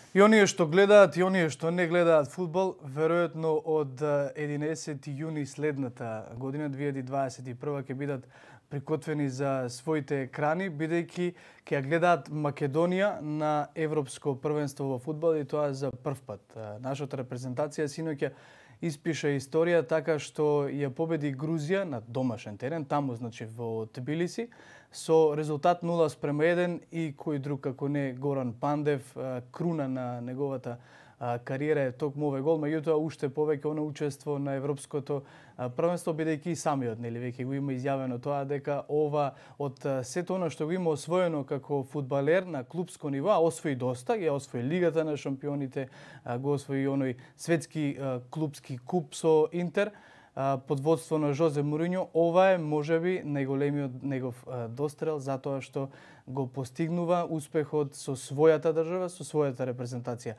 И оние што гледаат и оние што не гледаат фудбал, веројатно од 11 јуни следната година 2021 ќе бидат прикотвени за своите екрани, бидејќи ќе ја гледаат Македонија на Европско првенство во фудбал и тоа за прв пат. Нашата репрезентација синоќа испиша историја така што ја победи Грузија на домашен терен, таму значи во Тбилиси, со резултат 0:1 и кој друг како не Горан Пандев, круна на неговата кариера е токму овој гол, меѓутоа уште повеќе оно учество на Европското првенство, бидејќи и самиот веќе го има изјавено тоа дека ова од сето она што го има освоено како фудбалер на клупско ниво, освои доста, ја освои Лигата на шампионите, го освои оној светски клупски куп со Интер под водство на Жозе Мориньо. Ова е можеби најголемиот негов дострел затоа што го постигнува успехот со својата држава, со својата репрезентација.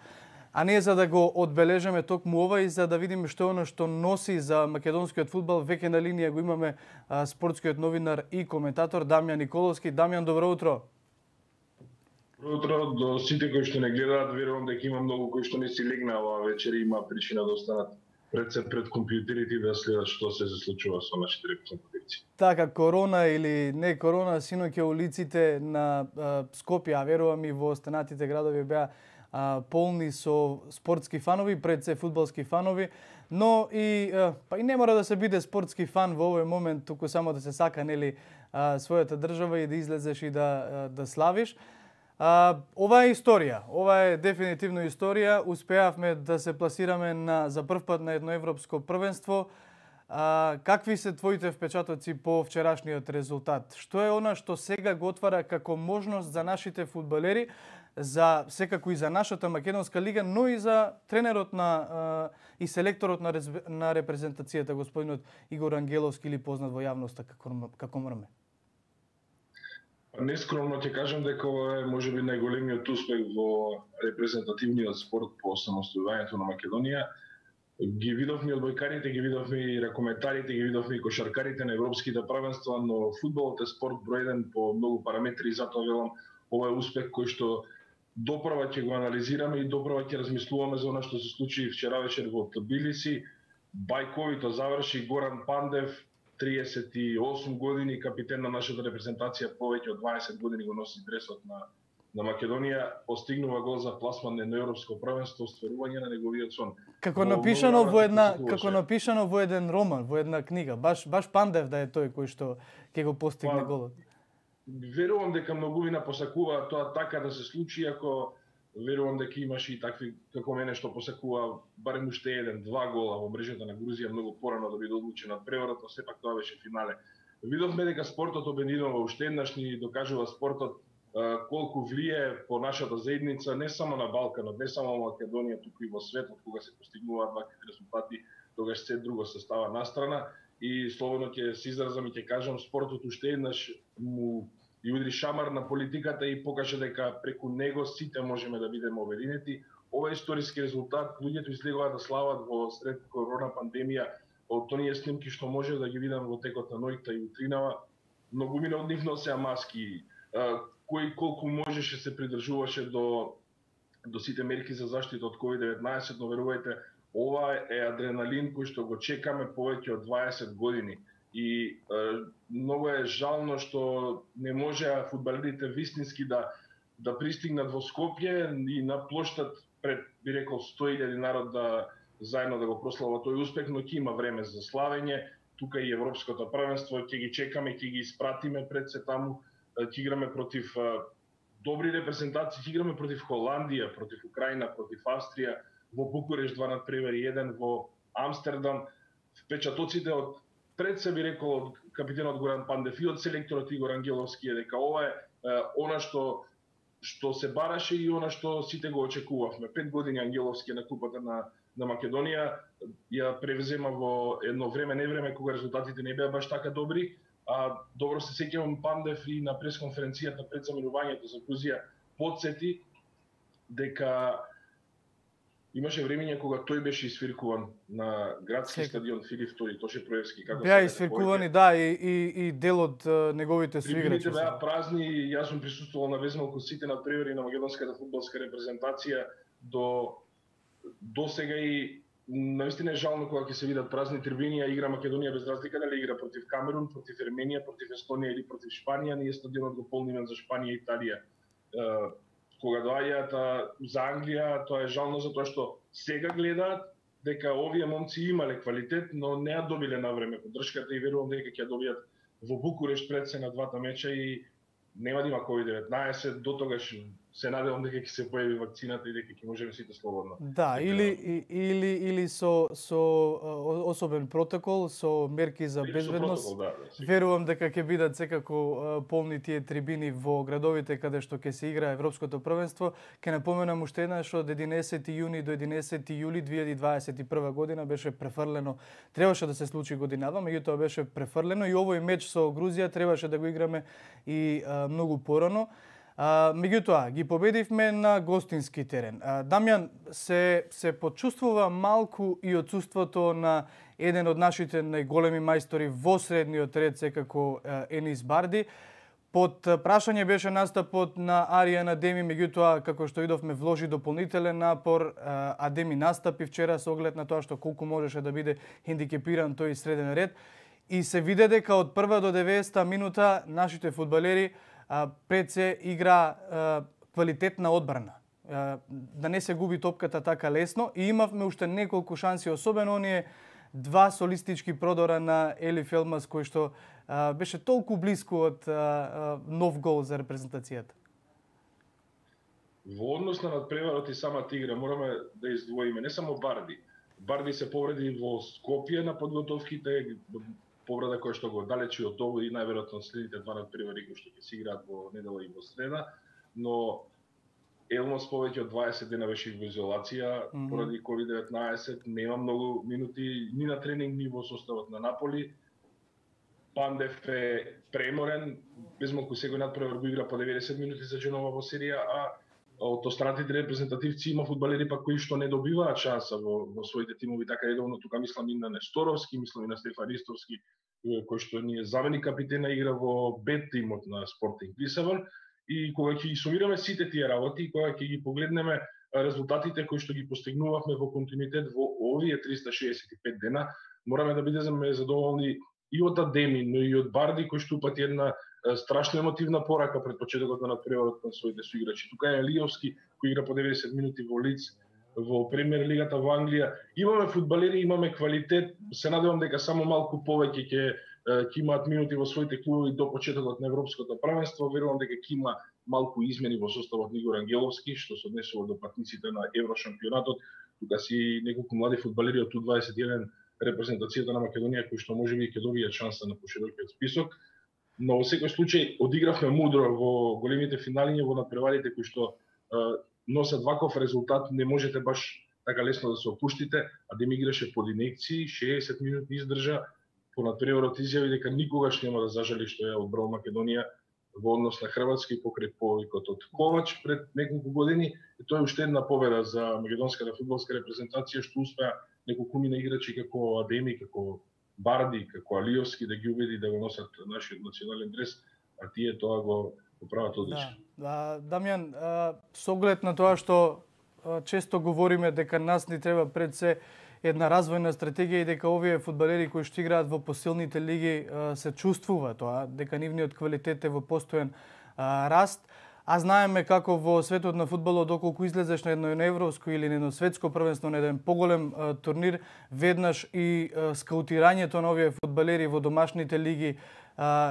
А не за да го одбележаме токму ова и за да видиме што е оно што носи за македонскиот фудбал. Веќе на линија го имаме спортскиот новинар и коментатор Дамјан Николовски. Дамјан, добро утро. Добро утро до сите кои што не гледаат. Верувам дека има многу кои што не си легнаа оваа вечер и има причина да останат пред компјутерите и да следат што се случува со нашите репрезентативци. Така, корона или не корона, синоќа улиците на Скопје, а верувам и во останатите градови беа полни со спортски фанови, пред се фудбалски фанови, но и па и не мора да се биде спортски фан во овој момент, туку само да се сака нели својата држава и да излезеш и да славиш. Ова е историја, ова е дефинитивно историја. Успеавме да се пласираме за прв пат на едно европско првенство. Какви се твоите впечатоци по вчерашниот резултат? Што е она што сега го отвара како можност за нашите фудбалери, за секако и за нашата македонска лига, но и за тренерот и селекторот на репрезентацијата, господинот Игор Ангеловски, или познат во јавноста како Мрме? Нескромно ќе кажам дека ова е можеби најголемиот успех во репрезентативниот спорт по самостојувањето на Македонија. Ги видовме одбојкарите, ги видовме и ракометарите, ги видовме и кошаркарите на европските првенства, но фудбалот е спорт број 1 по многу параметри и затоа велам ова е успех кој што допрва ќе го анализираме и допрва ќе размислуваме за она што се случи вчера вечер во Тбилиси. Бајковито заврши Горан Пандев, 38 години, капитен на нашата репрезентација, повеќе од 20 години го носи дресот на Македонија, постигнува гол за пласман на европско првенство, стварување на неговиот сон. Како напишано во еден роман, во една книга, баш Пандев да е тој кој што ќе го постигне голот. Верувам дека многувина посакува тоа така да се случи, ако верувам дека имаше и такви како мене што посакува барем уште еден-два гола во мрежата на Грузија многу порано да биде одлучен од преворот, но сепак тоа беше финале. Видовме дека спортот обединува, уште еднаш ни докажува спортот колку влие по нашата заедница, не само на Балканот, не само во Македонија, туку и во светот, кога се постигнуваат вакви резултати, тогаш се друго се става настрана и слободно ќе се изразам и ќе кажам, спортот уште еднаш му и удри шамар на политиката и покажа дека преку него сите можеме да бидеме обединети. Ова историски резултат, луѓето излегуваат да слават во сред корона пандемија од оние снимки што може да ги видам во текот на ноќта и утринава. Многумина од нив носеа маски, кој колку можеше се придржуваше до сите мерки за заштита од COVID-19, но верувајте, ова е адреналин кој што го чекаме повеќе од 20 години. И многу е жално што не можеа фудбалерите вистински да пристигнат во Скопје и на плоштад пред, би рекол, 100.000 народ да заедно да го прослава тој успех, но ќе има време за славење. Тука и Европското првенство, ќе ги чекаме, ќе ги испратиме пред се таму. Ќе играме против добри репрезентации, ќе играме против Холандија, против Украина, против Австрија, во Букуреш 2:1 во Амстердам. Впечатоците од пред се би рекол од капитенот Горан Пандев и од селекторот Игор Ангеловски е дека ова е она што се бараше и она што сите го очекувавме. 5 години Ангеловски на купата на Македонија ја превзема во едно време, не време кога резултатите не беа баш така добри. Добро се сеќавам, Пандев и на пресконференцијата пред заминувањето за Грузија потсети дека имаше времење кога тој беше исфиркуван на градски стадион Филип II, Тоше Проевски, како беа исфиркувани, да, и дел од неговите соиграчи. Беа празни, јас сум присуствувал на безмалку сите надпревари на македонската фудбалска репрезентација. до сега и наистина е жално кога ќе се видат празни трибини, а игра Македонија без разлика дали игра против Камерун, против Ерменија, против Естонија или против Шпанија, ние стадионот го полниме за Шпанија и Италија. Кога доаѓаат за Англија, тоа е жално затоа што сега гледаат дека овие момци имале квалитет, но не ја добиле на време поддршката и верувам дека ќе ја добијат во Букурешт пред се на двата меча и нема да има COVID-19, до тогаш се надевам дека ќе се појави вакцината и дека ќе можеме сите слободно. Да, или со особен протокол, со мерки за безбедност. Да, верувам дека ќе бидат секако полни тие трибини во градовите каде што ќе се игра Европското првенство. Ќе напоменам уште еднаш од 11 јуни до 11 јули 2021 година беше префрлено. Требаше да се случи годинава, меѓутоа беше префрлено и овој меч со Грузија требаше да го играме и многу порано. Меѓутоа, ги победивме на гостински терен. Дамјан, се почувствува малку и отсуството на еден од нашите најголеми мајстори во средниот ред, секако Енис Барди. Под прашање беше настапот на Аријан Адеми, меѓутоа, како што видовме, вложи дополнителен напор. Адеми настапи вчера со оглед на тоа што колку можеше да биде хендикепиран тој среден ред. И се виде дека од прва до 90 минута нашите фудбалери пред се игра квалитетна одбрана. Да не се губи топката така лесно и имавме уште неколку шанси, особено оние два солистички продора на Елиф Елмас кој што беше толку близко од нов гол за репрезентацијата. Во однос на надпреварот и самата игра мораме да издвоиме не само Барди. Барди се повреди во Скопје на подготовките, повреда која што го далечи од ovo и најверојатно следните два надпревари кои што ќе се играат во недела и во среда, но Елмос повеќе од 20 дена беше во изолација поради COVID-19, нема многу минути ни на тренинг ни во составот на Наполи. Пандев е преморен, без малку секој надпревар го игра по 90 минути за Дженова во серија, а од останатите репрезентативци има фудбалери пак кои што не добиваат шанса во своите тимови, така редовно тука мислам и на Несторовски, мислам и на Стефан Ристовски, кој што ни е заменик капитена, игра во Б тимот на Спортинг Лисабон. И кога ќе ги сумираме сите тие работи, кога ќе ги погледнеме резултатите кои што ги постигнувавме во континуитет во овие 365 дена, мораме да бидеме задоволни и од Адеми, но и од Барди кој што упати една страшно емотивна порака пред почетокот на надпреварот кон своите соиграчи. Тука е Лиовски кој игра по 90 минути во Лиц во Премиер лигата во Англија. Имаме фудбалери, имаме квалитет, се надевам дека само малку повеќе ќе имаат минути во своите клубови до почетокот на Европското првенство. Верувам дека ќе има малку измени во составот на Игор Ангеловски, што се однесува до патниците на Еврошампионатот. Тука си неколку млади фудбалери од Ту-21 репрезентацијата на Македонија кои што можеби ќе добијат шанса на поширокиот список. Но во секој случај одигравме мудро во големите финали, во надпреварите кои што носат ваков резултат, не можете баш така лесно да се опуштите. Адем играше под инекции, 60 минути издржа, по надпреварот изјави дека никогаш нема да зажали што е одбрал Македонија во однос на Хрватска и покрај повикот од Ковач пред неколку години. И тоа е уште една победа за македонската фудбалска репрезентација, што успеа неколку мина играчи како Адеми, како Барди, како Алиовски да ги убеди да го носат нашиот национален дрес, а тие тоа го прават одлично. Да, Дамјан, со оглед на тоа што често говориме дека нас ни треба пред се една развојна стратегија и дека овие фудбалери кои што играат во посилните лиги се чувствува тоа, дека нивниот квалитет е во постојан раст. А знаеме како во светот на фудбалот, доколку излезеш на едно европско или на едно светско првенство, на еден поголем турнир, веднаш и скаутирањето на овие фудбалери во домашните лиги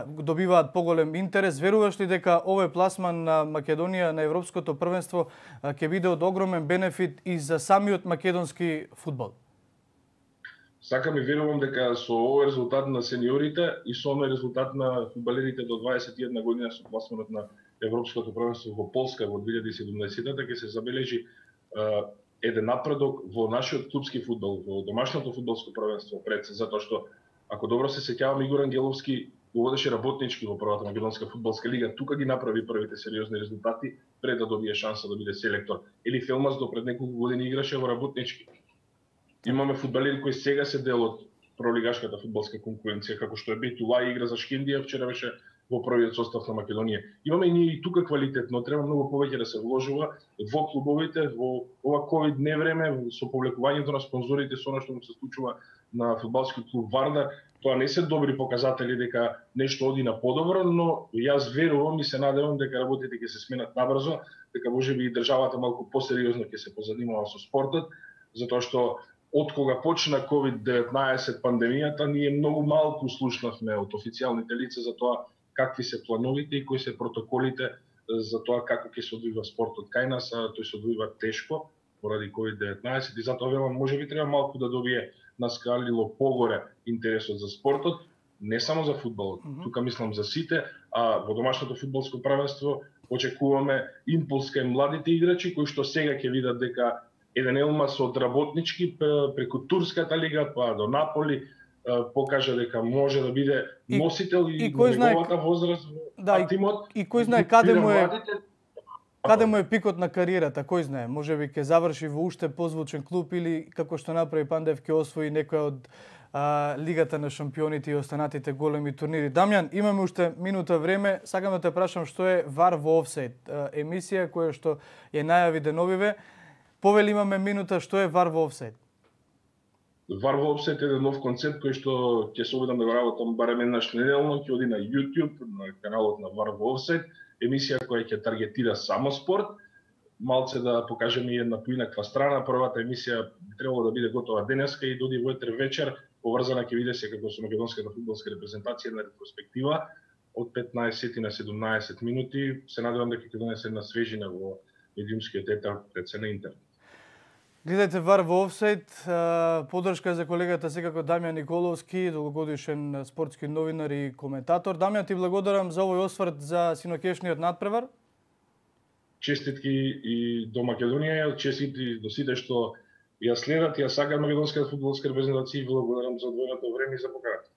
добиваат поголем интерес. Веруваш ли дека овој пласман на Македонија на европското првенство ќе биде од огромен бенефит и за самиот македонски фудбал? Сакам и верувам дека со овој резултат на сениорите и со овој резултат на фудбалерите до 21 година со пласманот на Европското првенство во Полска во 2017-та ќе се забележи еден напредок во нашиот клубски фудбал, во домашното фудбалско првенство пред се, затоа што ако добро се сеќавам, Игор Ангеловски го водеше работнички во првата македонска фудбалска лига, тука ги направи првите сериозни резултати пред да добие шанса да биде селектор. Елиф Елмас до пред неколку години играше во работнички. Имаме фудбалери кои сега се дел од пролигашката фудбалска конкуренција, како што е Бейтулај игра за Шкендија, вчера беше во првиот состав на Македонија. Имаме и ние и тука квалитет, но треба многу повеќе да се вложува во клубовите, во ова ковид невреме, со повлекувањето на спонзорите, со она што му се случува на фудбалски клуб Вардар. Тоа не се добри показатели дека нешто оди на подобро, но јас верувам и се надевам дека работите ќе се сменат набрзо, дека можеби и државата малку посериозно ќе се позанимава со спортот, затоа што од кога почна COVID-19 пандемијата, ние многу малку слушнавме од официјалните лица за тоа какви се плановите и кои се протоколите за тоа како ќе се одвива спортот кај нас, а тој се одвива тешко поради COVID-19 и затоа велам можеби треба малку да добие наскалило погоре интересот за спортот, не само за фудбалот, тука мислам за сите, а во домашното фудбалско правенство очекуваме импулс кај младите играчи кои што сега ќе видат дека еден Елмас од работнички преку Турската лига па до Наполи покажа дека може да биде носител и во неговата возраст во тимот. И кој знае каде му е пикот на кариерата, кој знае, можеби ќе заврши во уште позвучен клуб или како што направи Пандев ќе освои некоја од Лигата на шампионите и останатите големи турнири. Дамјан, имаме уште минута време, сакам да те прашам што е VAR во офсайд, емисија која што ја најави деновиве. Повели имаме минута, што е VAR во офсайд? VAR во офсайд е еден нов концепт кој што ќе се обидам да го работам барем еднаш неделно, ќе оди на YouTube, на каналот на VAR во офсайд, емисија која ќе таргетира само спорт, малце да покажеме и една поинаква страна. Првата емисија би требало да биде готова денеска и доди во етер вечер, поврзана ќе биде се како со македонската фудбалска репрезентација на ретроспектива од 15 на 17 минути. Се надевам дека ќе донесе една свежина во медиумскиот етер пред се на интернет. Гледајте VAR во офсайд, поддршка за колегата секако Дамјан Николовски, долгогодишен спортски новинар и коментатор. Дамјан, ти благодарам за овој осврт за синокешниот надпревар. Честитки и до Македонија, честитки до сите што ја следат, ја сакаат македонската фудбалска репрезентација и благодарам за одвоеното време и за поканата.